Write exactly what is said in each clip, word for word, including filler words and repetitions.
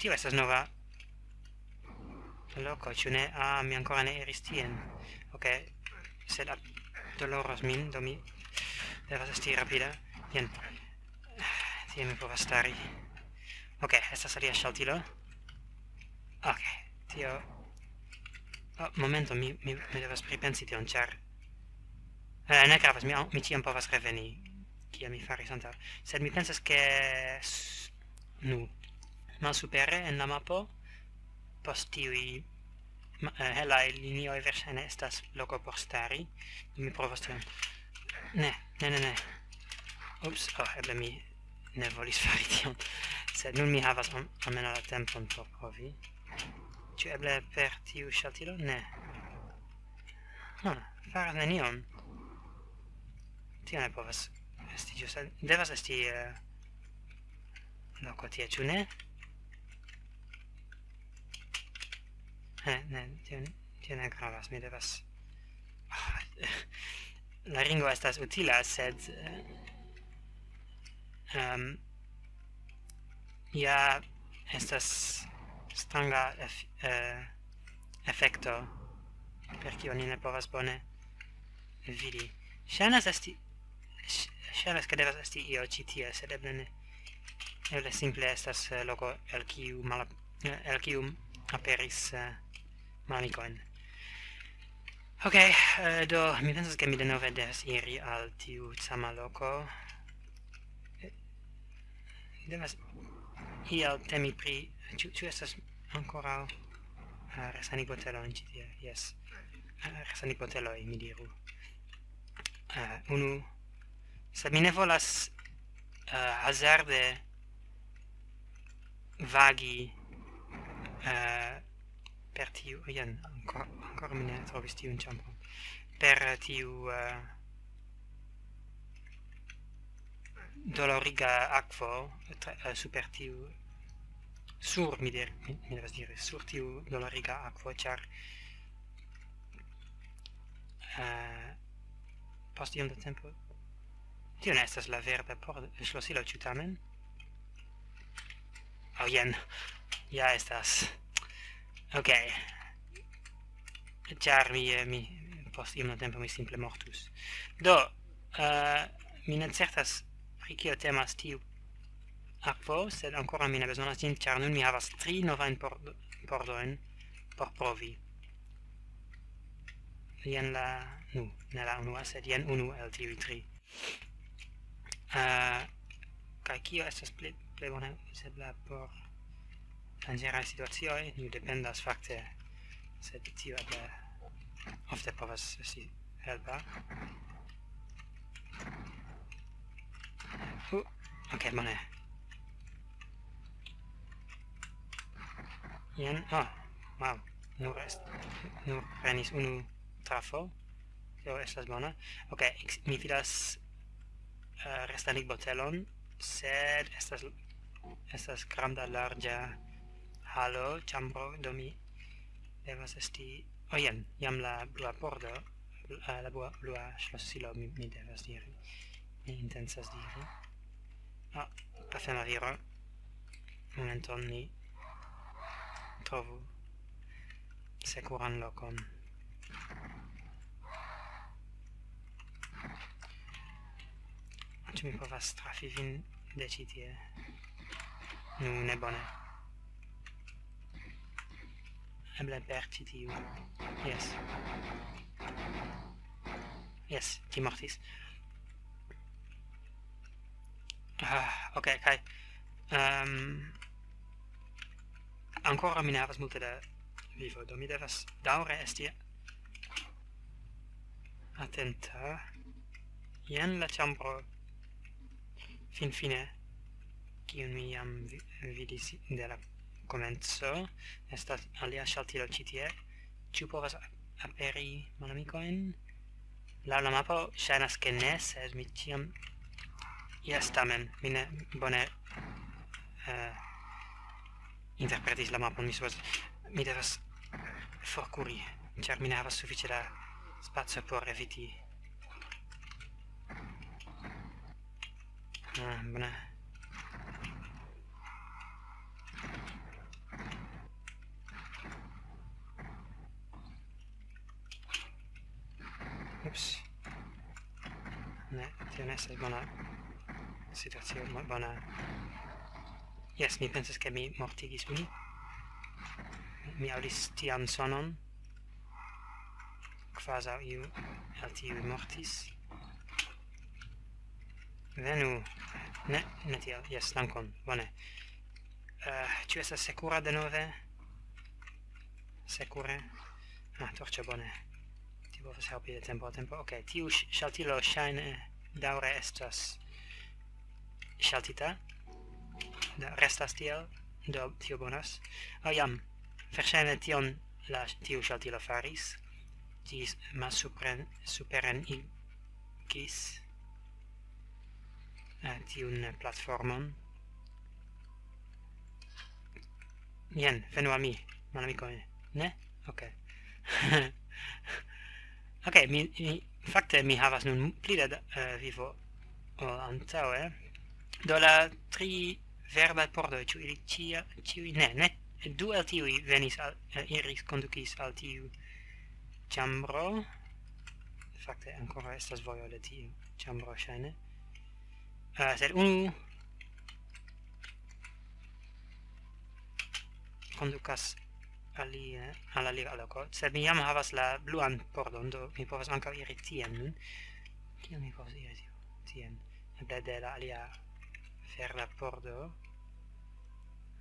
Tio estas nova loko, ĉu ne? Ah, mi ankoraŭ ne iris tien. Ok, sed ap-, doloras min, do mi devas esti rapida. Jen. Tie mi povas stari. Ok, estas alia ŝaltilo. Ok, tio... Oh, momento, mi, mi, mi devas pripensi tion, ĉar... Eh, ne gravas, mi, mi ĉiam povas reveni, kiel mi faris antaŭ. Sed mi pensas, ke s-, nu, malsupere en la mapo, post tiuj ma-, eh, helaj linioj verŝajne estas loko por stari. Mi provos tion. Ne, ne, ne, ne. Ups, oh, eble mi ne volis fari tion. Sed nun mi havas am-, almenaŭ la tempon por provi. Ĉu eble per tiu ŝaltilo? Ne. Hm, faras nenion. Tio ne povas esti ĝusta. Devas esti, eh, loko tie, ĉu ne? Eh, ne, tio, tio ne gravas, mi devas... Ah, la ringo estas utila, sed, eh, ehm, ja estas stranga ef-, eh, efekto, per kio ni ne povas bone vidi. Ŝajnas esti, ŝ-, ŝajnas, ke devas esti io ĉi tie, sed eble ne. Eble simple estas, eh, loko el kiu mala-, eh, el kiu aperis, eh, malamikojn. Ok, eh, do mi pensas, ke mi denove devas iri al tiu sama loko. Eh, devas iel temi pri... Ĉu, ĉu estas ankoraŭ, eh, resanigoteloj ĉi tie? Jes. Eh, resanigoteloj, mi diru. Eh, unu. Sed mi ne volas, eh, hazarde vagi, eh, per tiu... Jen, ancora, ancora mi ne trovis tiun ĉambron. Per tiu, eh, doloriga akvo, tra-, eh, super tiu... Sur, mi dir-, mi, mi devas diri, sur tiu doloriga akvo, ĉar, eh, post iom da tempo... Tio ne estas la verda por-, ŝlosilo, ĉu tamen? Oh, jen. Ja estas. Ok. Ĉar mi, eh, mi, post iom da tempo mi simple mortus. Do, eh, mi ne certas pri kio temas tiu akvo, sed ankoraŭ mi ne bezonas ĝin, ĉar nun mi havas tri novajn por-, pordojn por provi. Jen la... Nu, ne la unua, sed jen unu el tiuj tri. Eh, kaj kio estas plej, plej bone uzebla por danĝeraj situacioj? Nu, dependas fakte, sed tio eble ofte povas esti helpa. Uh, ok, bone. Jen, oh, wow, nur est-, nur prenis unu trafo. Tio estas bona. Ok, ex-, mi vidas, eh, restanigbotelon, sed estas, estas granda, larĝa halo, ĉambro, do mi devas esti... Oh, jen, jam la blua pordo, eh, la blua, blua ŝlosilo, mi, mi devas diri. Mi intencas diri. Ah, pafema viro. Momenton, mi trovu sekuran lokon. Ĉu mi povas trafi vin de ĉi tie? Nu, ne bone. Eble per ĉi tiu. Jes. Jes, ĝi mortis. Ah, ok, kaj, ehm, ankoraŭ mi ne havas multe da vivo, do mi devas daŭre esti atenta. Jen la ĉambro, finfine, kiun mi jam vi-, vidis de la komenco. Estas alia ŝaltilo ĉi tie. Ĉu povas a-, aperi malamikojn? Laŭ la mapo ŝajnas, ke ne, sed mi ĉiam... Jes, tamen, mi ne bone, eh, interpretis la mapon, mi supozas. Mi devas forkuri, ĉar mi ne havas sufiĉe da spaco por eviti. Ah, bone. Ups. Ne, tio ne estas bona situacio, mo-, bona. Jes, mi pensas, ke mi mortigis unu. Mi aŭdis tian sonon, kvazaŭ iu el tiuj mortis. Venu. Ne, ne tiel. Jes, dankon. Bone. Eh, ĉu estas sekura denove? Sekure. Ah, torĉo, bone. Tio povas helpi de tempo al tempo. Ok, tiu ŝ-, ŝaltilo ŝajne daŭre estas ŝaltita. Da, restas tiel. Do, tio bonas. Oh, jam. Verŝajne tion la, tiu ŝaltilo faris. Ĝi s-, malsupren-, superen igis, eh, tiun platformon. Jen, venu al mi, malamikoj. Ne? Ok. Ok, mi, mi, fakte mi havas nun pli da, eh, vivo ol antaŭe. Do la tri verdaj pordoj, ĉu ili ĉia-, ĉiuj? Ne, ne. Du el tiuj venis al, eh, iris, kondukis al tiu ĉambro. Fakte ankoraŭ estas vojo de tiu ĉambro, ŝajne. Eh, sed unu kondukas alie, al alia loko. Sed mi jam havas la bluan pordon, do mi povas ankaŭ iri tien nun. Kiel mi povas iri tien? Eble de la alia verda pordo.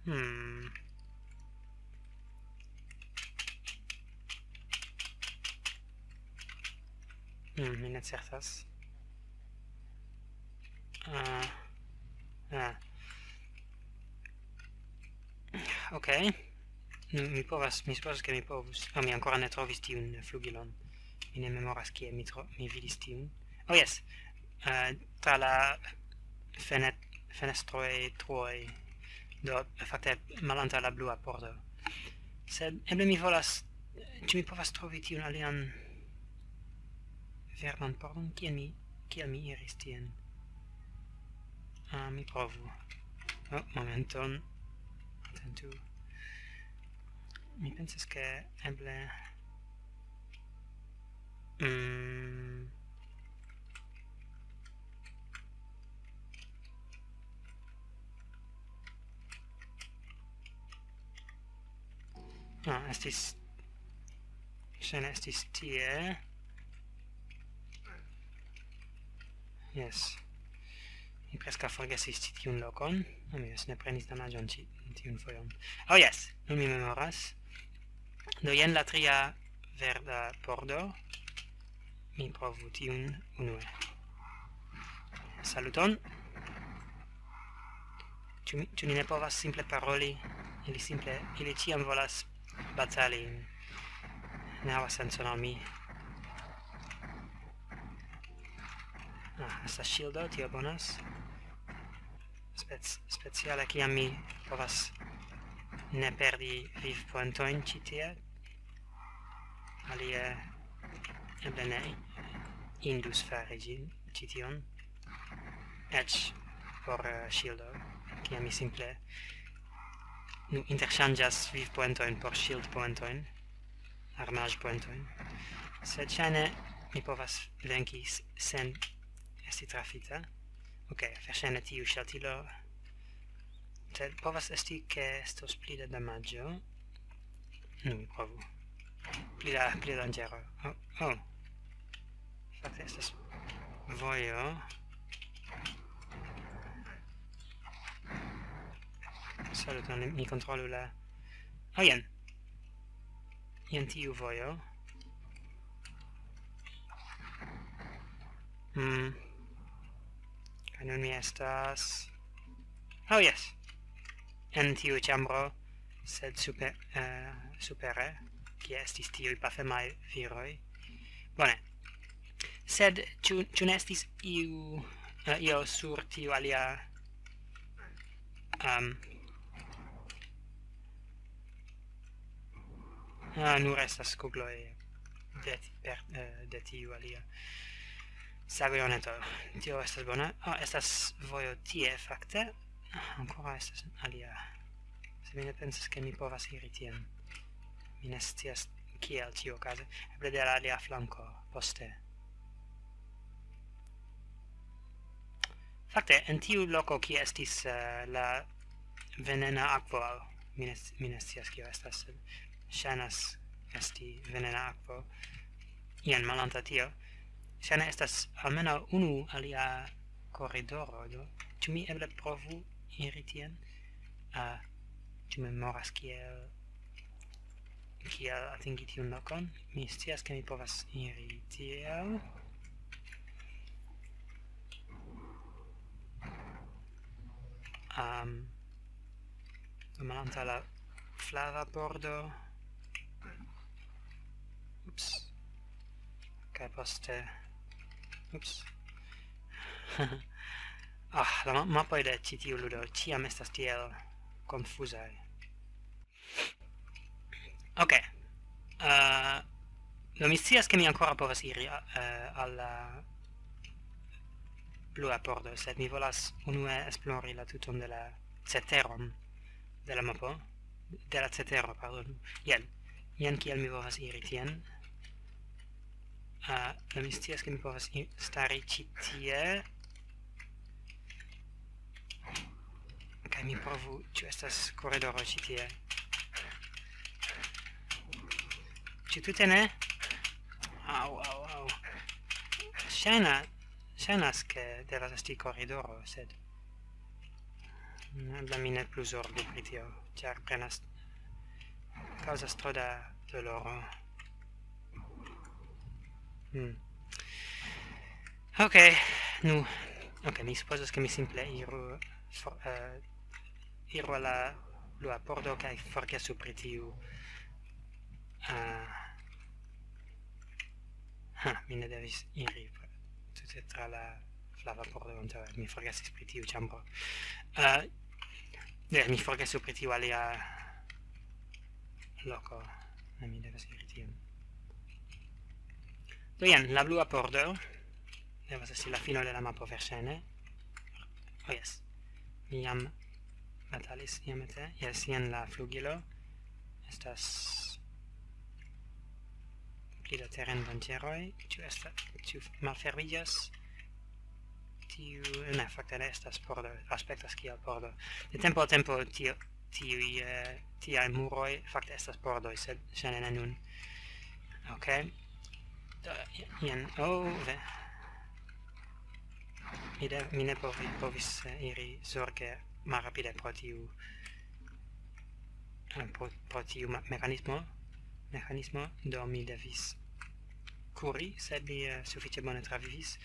Hmm. Hmm, mi ne certas. Ah, ah. Ok. Nu, mi povas, mi supozas, ke mi povus. Ah, mi ankoraŭ ne trovis tiun flugilon. Mi ne memoras, kie mi tro-, mi vidis tiun. Oh, jes. Eh, tra la fenet-, fenestroj, truoj. Do, fakte, malantaŭ la blua pordo. Sed eble mi volas, ĉu mi povas trovi tiun alian verdan pordon? Kiel mi, kiel mi iris tien? Ah, mi provu. Oh, momenton. Atentu. Mi pensas, ke eble, mm, ah, estis, ŝajne estis tie. Jes. Mi preskaŭ forgesis ĉi tiun lokon. Ah, mi jes, ne prenis damaĝon ĉi tiun fojon. Oh, jes, nun mi memoras. Do, jen la tria verda pordo. Mi provu tiun unue. Saluton. Ĉu mi, ĉu ni ne povas simple paroli? Ili simple, ili ĉiam volas batali. Ne havas sencon al mi. Ah, estas ŝildo, tio bonas. Spec-, speciale kiam mi povas ne perdi vivpunktojn ĉi tie. Alie eble ne indus fari ĝin, ĉi tion. Eĉ por, eh, ŝildo, kiam mi simple, nu, interŝanĝas vivpunktojn por ŝildpunktojn, armaĵpunktojn. Sed ŝajne mi povas venki s-, sen esti trafita. Ok, verŝajne tiu ŝaltilo. Sed povas esti, ke estos pli da damaĝo. Nu, mi provu. Pli da, pli da danĝero. Oh, oh. Fakte estas vojo. Saluton, mi kontrolu la... Oh, jen. Jen tiu vojo. Hmm. Kaj nun mi estas... Oh, jes. En tiu ĉambro, sed super, eh, supere, kie estis tiuj pafemaj viroj. Bone. Sed ĉu, ĉu ne estis iu, eh, io sur tiu alia, ehm, ah, nur estas kugloj de ti-, per, eh, de tiu alia sagojoneto. Tio estas bona. Ah, estas vojo tie, fakte. Ah, ankoraŭ estas alia. Se mi ne pensas, ke mi povas iri tien. Mi ne scias kiel tio okaze. Eble de la alia flanko, poste. Fakte, en tiu loko, kie estis, eh, la venena akvo, mi ne s-, mi ne scias, kio estas, sed ŝajnas esti venena akvo, jen malantaŭ tio, ŝajne estas almenaŭ unu alia koridoro, do ĉu mi eble provu iri tien? Ah, ĉu mi memoras kiel, kiel atingi tiun lokon? Mi scias, ke mi povas iri tiel. Am, malantaŭ la flava pordo. Ups. Kaj poste. Ups. Ah, la ma-, mapoj de ĉi tiu ludo ĉiam estas tiel konfuzaj. Ok. Eh, do mi scias, ke mi ankoraŭ povas iri, eh, al la blua pordo, sed mi volas unue esplori la tuton de la ceteron de la mapo, de la cetero, pardonu. Jen, jen kiel mi povas iri tien. Ah, do mi scias, ke mi povas i-, stari ĉi tie. Kaj mi provu, ĉu estas koridoro ĉi tie. Ĉu tute ne? Au, au, au. Ŝajna-, ŝajnas, ke devas esti koridoro, sed eble mi ne plu zorgu pri tio, ĉar prenas, kaŭzas tro da doloro. Hmm. Ok, nu, ok, mi supozas, ke mi simple iru for-, eh, iru al la blua pordo kaj forgesu pri tiu, eh, ha, mi ne devis iri tute tra la flava pordo antaŭe, mi forgesis pri tiu ĉambro. Eh, ne, mi forgesu pri tiu alia loko. Ne, mi devas iri tien. Do jen, la blua pordo devas esti la fino de la mapo, verŝajne. Oh, jes. Mi jam batalis iomete. Jes, jen la flugilo. Estas pli da terendanĝeroj. Ĉu esta-, ĉu malfermiĝas? Tiu, ne, fakte ne estas pordo. Aspektas kiel pordo. De tempo al tempo tio, tiuj, eh, tiaj muroj fakte estas pordoj, sed ŝajne ne nun. Ok. Do, jen, oh, ve. Mi de-, mi ne povi-, povis, eh, iri zorge malrapide pro tiu, eh, pro, pro tiu ma-, mekanismo, mekanismo, do mi devis kuri, sed mi, eh, sufiĉe bone travivis.